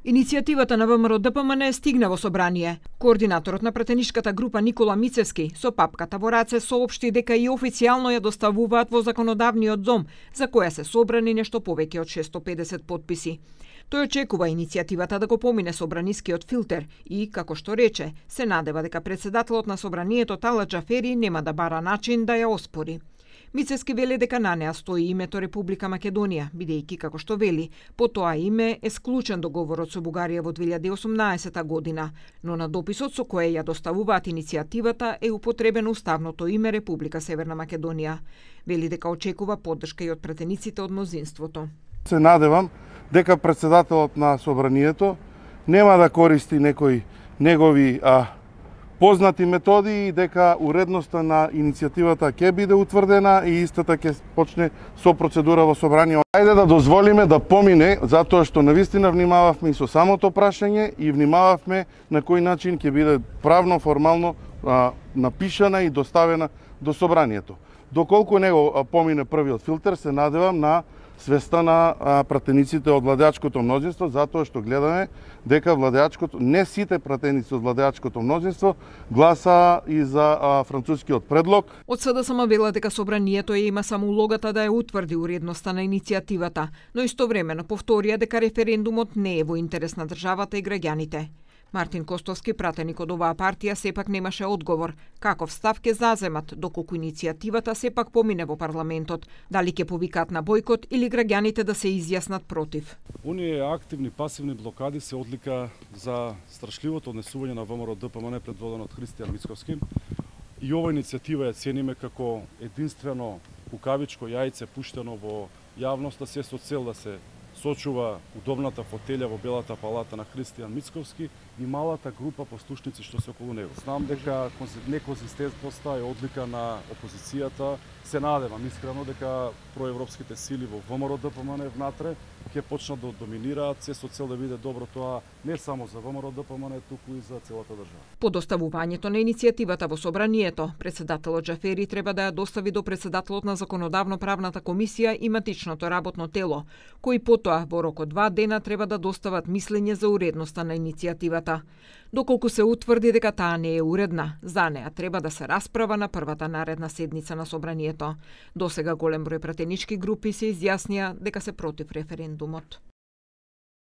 Иницијативата на ВМРО-ДПМН стигна во собрание. Координаторот на пратеничката група Никола Мицевски со папката во раце соопшти дека и официјално ја доставуваат во законодавниот дом, за која се собрани нешто повеќе од 650 потписи. Тој очекува иницијативата да го помине собранискиот филтер и, како што рече, се надева дека председателот на собранието Талат Џафери нема да бара начин да ја оспори. Мицевски вели дека на неа стои името Република Македонија, бидејќи, како што вели, по тоа име е склучен договорот со Бугарија во 2018 година, но на дописот со кој ја доставуваат иницијативата е употребено уставното име Република Северна Македонија. Вели дека очекува поддршка и од пратениците од мнозинството. Се надевам дека председателот на собранието нема да користи некои негови познати методи и дека уредноста на иницијативата ќе биде утврдена и истата ќе почне со процедура во собрание. Ајде да дозволиме да помине, затоа што навистина внимававме и со самото прашање и внимававме на кој начин ќе биде правно, формално напишана и доставена до собранието. Доколку него помине првиот филтер, се надевам на свеста на пратениците од владеачкото мнозинство, затоа што гледаме дека не сите пратеници од владеачкото мнозинство гласа и за францускиот предлог. Од СДСМ вела дека собранието има само улогата да ја утврди уредноста на иницијативата, но истовремено повторија дека референдумот не е во интерес на државата и граѓаните. Мартин Костовски, пратеник од оваа партија, сепак немаше одговор каков став ќе заземат доколку иницијативата сепак помине во парламентот, дали ќе повикаат на бојкот или граѓаните да се изјаснат против. Оние активни пасивни блокади се одлика за страшливото однесување на ВМРО-ДПМН предводено од Христијан Мицковски. И ова иницијатива ја цениме како единствено кукавичко јајце пуштено во јавноста, се со цел да се сочува удобната фотелја во Белата палата на Христијан Мицковски и малата група послушници што се околу него. Знам дека неконзистентноста е одлика на опозицијата. Се надевам искрено дека проевропските сили во ВМРО-ДПМН внатре ќе почнат да доминираат, се со цел да биде добро тоа не само за ВМРО-ДПМН, туку и за целата држава. По доставувањето на иницијативата во собранието, председателот Џафери треба да ја достави до председателот на Законодавно-правната комисија и матичното работно тело, кои потоа во рок од 2 дена треба да достават мислење за уредноста на иницијативата. Доколку се утврди дека таа не е уредна, за неа треба да се расправа на првата наредна седница на собранието. Досега голем број пратенички групи се изјаснија дека се против референдумот.